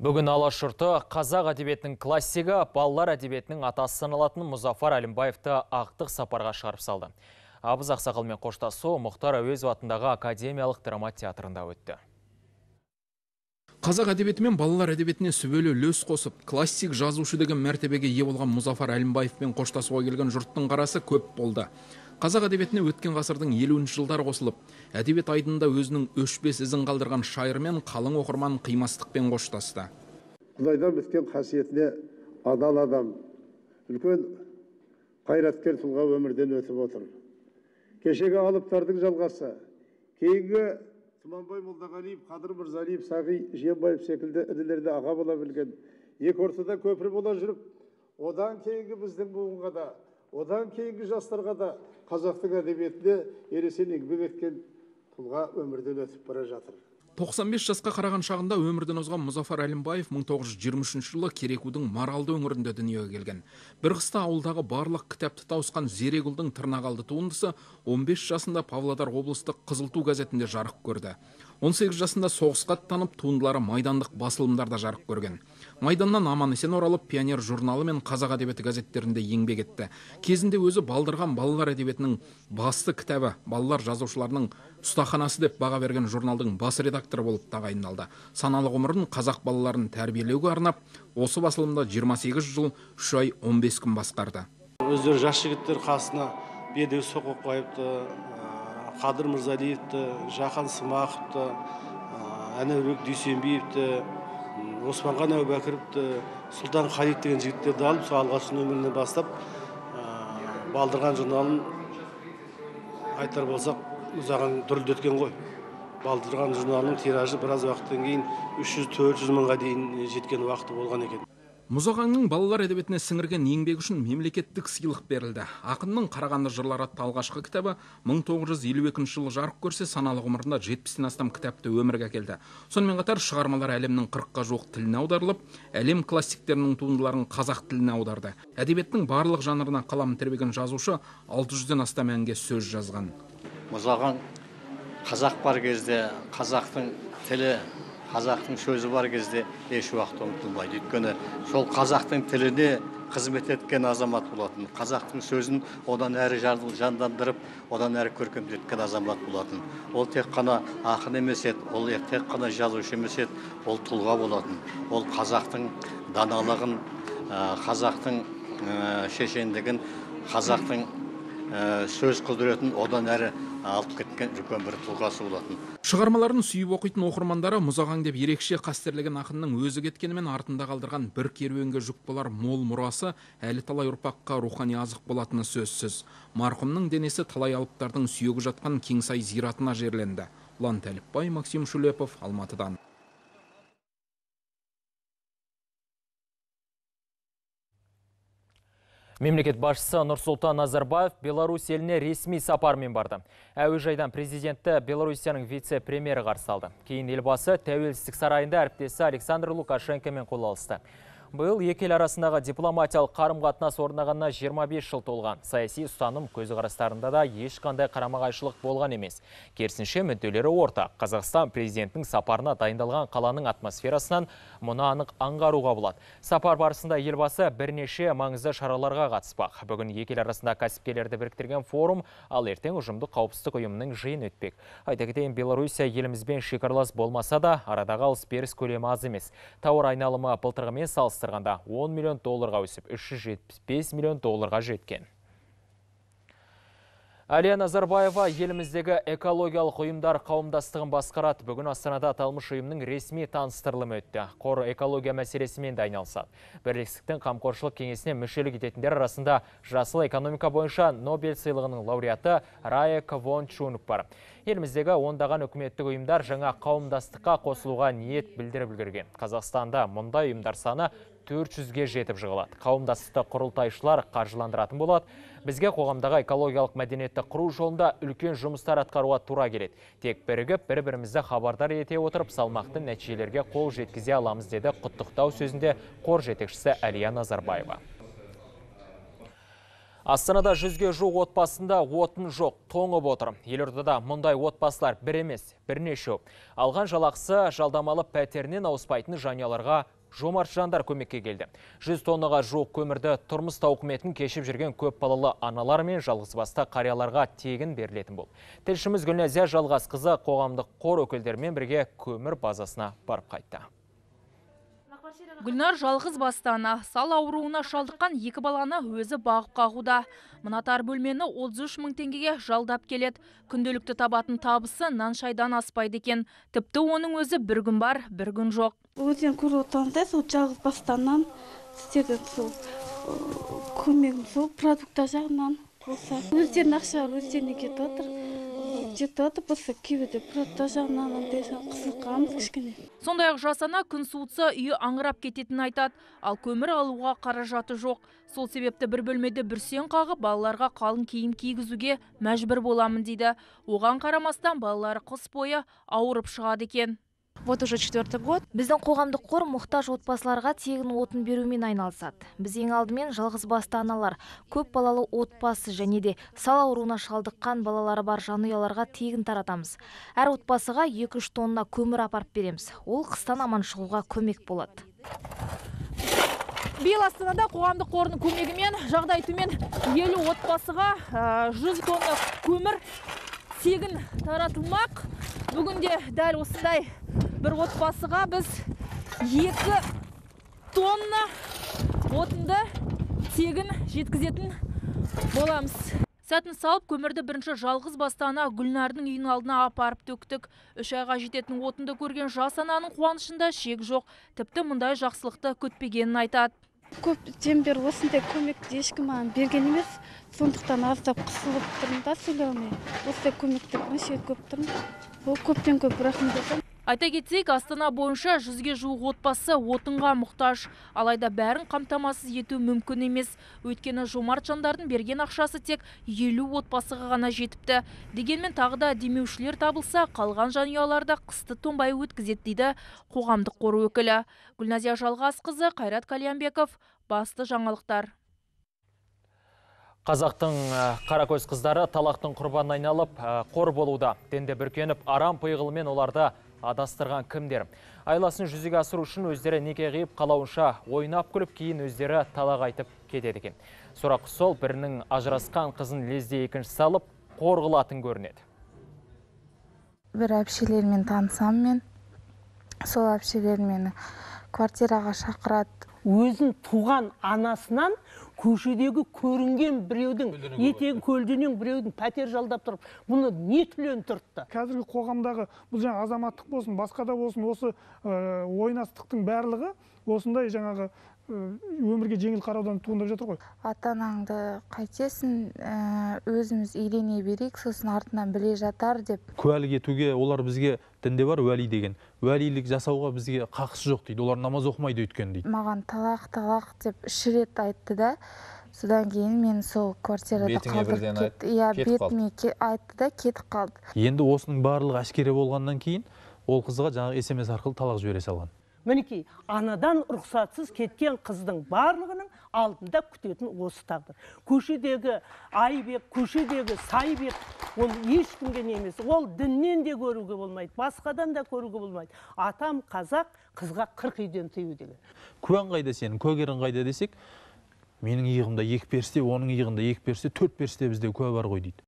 [SPEAKER 1] Бүгін алаш жұрты қазақ әдебиетінің классигі, балалар әдебиетінің атасы саналатын Мұзафар Әлімбаевты ақтық сапарға шығарып салды. Абыз Ақсақалмен қоштасу Мұхтар Әуезов атындағы академиялық драма театрында өтті.
[SPEAKER 13] Қазақ әдебиеті мен балалар әдебиетіне сүбелі үлес қосып, классик жазушы деген мәртебеге ие болған Мұзафар Әлімбаевпен қоштасуға келген жұрттың қарасы көп болды. Қазақ әдебиетіне өткен ғасырдың елуінші жылдары қосылып, әдебиет айдында өзінің өшпес ізін қалдырған шайырмен қалың оқырман қимастықпен қоштасты.
[SPEAKER 14] Құдайдан біткен қасиетіне адал адам, үлкен қайраткер тұлға өмірден өтіп отыр. Кешегі алыптардың жалғасы, кейінгі Тұманбай Молдағалиев, Қадыр Мырзалиев, Сағи Жиенбаев секілді інілерді аға бола білген, екі ортада көпір бола жүріп, одан кейінгі біздің буынға да, одан кейінгі жастарға да қазақтың әдебиетіне ересен еңбек еткен тұлға өмірден өтіп бара жатыр.
[SPEAKER 13] тоқсан бес жасқа қараған шағында өмірден озған Мұзафар Әлімбаев мың тоғыз жүз жиырма үшінші жылы Керекудің Маралды өңірінде дүниеге келген. Bir қыста ауылдағы барлық кітапты тауысқан Зерегүлдің Тырнақалды туындысы он бес жасында Павлодар облыстық Қызылту газетінде жарық көрді. он сегіз жасында соғысқа аттанып, туындылары майдандық басылымдарда жарық көрген. Майданнан аман-есен оралып, Пионер журналы мен Қазақ әдебиеті газеттерінде еңбек етті. Кезінде өзі балдырған балалар әдебиетінің басты кітабы, балалар жазушыларының ұстаханасы деп баға берген журналдың бас редакторы болып тағайындалды. Саналы ғұмырын қазақ балаларын тәрбиелеуге арнап, осы басылымда жиырма сегіз жыл, үш ай, он бес күн басқарды.
[SPEAKER 14] Өздері жас жігіттер қасына бедеу соқып қойыпты, Қадыр Мырзалиевті, Жақан Смақовты, Әнәурек Дүйсенбиевті, Османған Әубәкіровті, Сұлтан Халид деген жігіттерді алып, сол алғашқы нөмірінен бастап, балдырған журналын айтар болсақ, ұзаған дүрілдеткен ғой. Балдырған журналының тиражы біраз уақыттан кейін үш жүз төрт жүз мыңға дейін жеткен уақыты болған екен.
[SPEAKER 13] Мұзағаңның балалар әдебиетіне сіңірген еңбегі үшін мемлекеттік сыйлық берілді. Ақынның Қарағанды жырлары атты алғашқы кітабы мың тоғыз жүз елу екінші жылы жарық көрсе, саналы ғұмырында жетпістен астам кітапты өмірге әкелді. Сонымен қатар шығармалар әлемнің қырыққа жуық тіліне аударылып, әлем классиктерінің туындыларын қазақ тіліне аударды. Әдебиеттің барлық жанрына қалам тербеген жазушы алты жүзден астам әнге сөз жазған.
[SPEAKER 15] Мұзағаң қазақ бар кезде, қазақтың тілі, қазақтың сөзі бар кезде еш уақыт ұмытылмайды. Өйткені сол қазақтың тіліне қызмет еткен азамат болатын. Қазақтың сөзін одан әрі жандандырып, одан әрі көркемдеткен азамат болатын. Ол тек қана ақын емес еді, ол тек қана жазушы емес еді, ол тұлға болатын. Ол қазақтың даналығын, қазақтың шешендігін, қазақтың сөз құдіретін одан әрі алып кеткен үлкен бір тұлғасы болатын.
[SPEAKER 13] Шығармаларын сүйіп оқитын оқырмандары Мұзағаң деп ерекше қастерлеген ақынның өзі кеткенімен артында қалдырған бір керуенге жүк болар мол мұрасы әлі талай ұрпаққа рухани азық болатыны сөзсіз. Марқұмның денесі талай алыптардың сүйегі жатқан Кеңсай зиратына жерленді. Ұлан Тәліпбай, Максим Шулепов, Алматыдан.
[SPEAKER 1] Мемлекет басшысы Нұрсұлтан Назарбаев Беларусь еліне ресми сапармен барды. Әуежайдан президентті Беларусияның вице-премьері қарсы алды. Кейін елбасы Тәуелсіздік сарайында әріптесі Александр Лукашенкомен қол алысты. Бұл екі ел арасындағы дипломатиялық қарым-қатынас орнағанына жиырма бес жыл толған. Саяси ұстаным көзқарастарында да ешқандай қарама-қайшылық болған емес. Керісінше мүдделері ортақ. Қазақстан президентінің сапарына дайындалған қаланың атмосферасынан мұны анық аңғаруға болады. Сапар барысында елбасы бірнеше маңызды шараларға қатыспақ. Бүгін екі ел арасында кәсіпкерлерді біріктірген форум, ал ертең ұжымдық қауіпсіздік ұйымының жиын өтпек. Айта кетейін, Белоруссия елімізбен шекаралас болмаса да, арадағы алыс-беріс көлемі аз емес. Тауар айналымы былтырғымен салыстырғанда он миллион долларға өсіп, үш жүз жетпіс бес миллион долларға жеткен. Әлия Назарбаева еліміздегі экологиялық ұйымдар қауымдастығын басқарады. Бүгін Астанада аталмыш ұйымның ресми таныстырылымы өтті. Қор экология мәселесімен де айналысады. Бірлестіктің қамқоршылық кеңесіне мүшелік ететіндер арасында жасыл экономика бойынша Нобель сыйлығының лауреаты Рая Квон Чунг бар. Еліміздегі ондаған үкіметтік ұйымдар жаңа қауымдастыққа қосылуға ниет білдіріп үлгерген. Қазақстанда мұндай ұйымдар саны төрт жүзге жетіп жығылады. Қауымдастықты құрылтайшылар қаржыландыратын болады. Бізге қоғамдағы экологиялық мәдениетті құру жолында үлкен жұмыстар атқаруға тура келеді. Тек бірігіп, бір-бірімізді хабардар ете отырып, салмақты нәтижелерге қол жеткізе аламыз, деді құттықтау сөзінде қор жетекшісі Әлия Назарбаева. Астанада жүзге жуық отбасында отын жоқ, тоңып отыр. Елордада мұндай отбасылар бір емес, бірнеше. Алған жалақысы жалдамалы пәтерінен ауыспайтын жанұяларға жомарт жандар көмекке келді. жүз тоннаға жуық көмірді тұрмыс тауқыметін кешіп жүрген көп балалы аналар мен жалғызбасты қарияларға тегін берілетін бұл. Тілшіміз Гүлназия Жалғасқызы қоғамдық қор өкілдерімен бірге көмір базасына барып қайтты.
[SPEAKER 16] Гүлнар жалғыз бастана, сал ауруына шалдыққан екі баланы өзі бағып қағуда. Мынатар бөлмені отыз үш мың теңгеге жалдап келеді. Күнделікті табатын табысы нан шайдан аспайды екен. Тіпті оның өзі бір күн бар, бір күн жоқ.
[SPEAKER 17] Өзен көріп отырғандай, сол жалғыз бастаннан істеген сол көмегім сол продукта жағынан болса. Өздерінің ақшалары өздеріне кетіп отыр. Жетіп отыр, болса кейбірде продукта жағынан қысылғанбыз кішкене.
[SPEAKER 16] Сондай-ақ жасана күн суытса үйі аңырап кететінін айтады, ал көмір алуға қаражаты жоқ. Сол себепті бір бөлмеде бүрсең қағып, балаларға қалың киім кигізуге мәжбүр боламын дейді. Оған қарамастан балалары қыс бойы ауырып шығады екен.
[SPEAKER 18] Вот уже четвертый год. Біздің қоғамдық қор мұқтаж отбасыларға тегін отын берумен айналысады. Біз ең алдымен жалғыз басты аналар, көп балалы отбасы және де сал ауруына шалдыққан балалары бар жанұяларға тегін таратамыз. Әр отбасыға екі үш тонна көмір апарып береміз. Ол қыстан аман шығуға көмек болады.
[SPEAKER 16] Биыл Астанада қоғамдық қорының көмегімен жағдай төмен елу отбасыға жүз тонна көмір тегін таратылмақ. Бүгінде дәл осындай бір отбасыға біз екі тонна отынды тегін жеткізетін боламыз. Сәтін салып, көмірді бірінші жалғыз бастана Гүлнардың үйінің алдына апарып төктік. Үш айға жететін отынды көрген жас ананың қуанышында шек жоқ. Тіпті мұндай жақсылықты күтпегенін айтады.
[SPEAKER 17] Көптен бері осындай көмекті ешкім маған берген емес. Сондықтан аздап қысылып тұрмын да сөйлеуіме. Осындай көмекті неше көп тұрмын. Ол көптен көп рахмет айтамын.
[SPEAKER 16] Айта кетсек, Астана бойынша жүзге жуық отбасы отынға мұқтаж. Алайда бәрін қамтамасыз ету мүмкін емес. Өйткені жомарт жандардың берген ақшасы тек елу отбасыға ғана жетіпті. Дегенмен тағы да демеушілер табылса, қалған жанұяларда қысты тонбай өткізеді дейді қоғамдық қор өкілі. Гүлназия Жалғасқызы, Қайрат Кальянбеков, басты жаңалықтар.
[SPEAKER 1] Қазақтың қаракөз қыздары талақтың құрбанына айналып, қор болуда. Денде бүркеніп, арам пиғылымен оларды адастырған кімдер? Айласын жүзеге асыру үшін өздері неке қиып қалауынша ойнап күліп, кейін өздері талақ айтып кетеді екен. Сұрақ сол, бірінің ажырасқан қызын лезде екінші салып, қор қылатын көрінеді.
[SPEAKER 19] Бір әпшелермен танысам мен, сол әпшелер мені квартираға шақырады.
[SPEAKER 20] Өзін туған анасынан көшедегі көрінген біреудің, етегі көлденең біреудің пәтер жалдап тұрып, бұны не түлен тұртты?
[SPEAKER 22] Қазіргі қоғамдағы бұл жаңа азаматтық болсын, басқа да болсын, осы ойнастықтың барлығы осындай жаңағы өмірге жеңіл қараудан туындап жатыр ғой.
[SPEAKER 19] Ата-анаңды қайтесің, өзіміз үйлене берейік, сосын артынан біле жатар деп.
[SPEAKER 23] Куәлік етуге олар бізге дінде бар уәли деген. Уәлилік жасауға бізге қақысы жоқ дейді. Олар намаз оқымайды өйткен дейді.
[SPEAKER 19] Маған талақ, талақ деп үш рет айтты да. Содан кейін мен сол квартирада қалдырып кетті. Иә, бетіме айтты да кетіп қалды.
[SPEAKER 23] Енді осының барлығы әшкере болғаннан кейін ол қызға жаңағы эс эм эс арқылы талақ жібере салған.
[SPEAKER 20] Мінекей, анадан рұқсатсыз кеткен қыздың барлығының алдында күтетін осы тағдыр. Көшедегі айбек, көшедегі сайбек, ол ешкімге емес. Ол діннен де көруге болмайды, басқадан да көруге болмайды. Атам қазақ, қызға қырық үйден тыю деген.
[SPEAKER 23] Куәң қайда сенің, куәгерің қайда десек, менің иығымда екі періште, оның иығында екі періште, төрт періште бізде куә бар ғой дейді.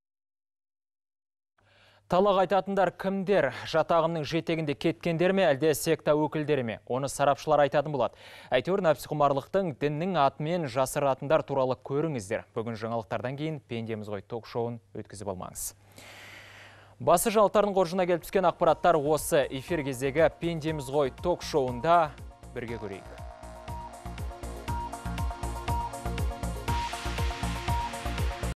[SPEAKER 1] Талақ айтатындар кімдер? Жатағымның жетегінде кеткендер ме, әлде секта өкілдері ме? Оны сарапшылар айтатын болады. Әйтеуір нәпсіқұмарлықтың діннің атымен жасыратындар туралы көріңіздер. Бүгін жаңалықтардан кейін Пендеміз ғой ток-шоуын өткізіп алмаңыз. Басы жаңалықтардың қоржына келіп түскен ақпараттар осы. Эфир кездегі Пендеміз ғой ток-шоуында бірге көрейік.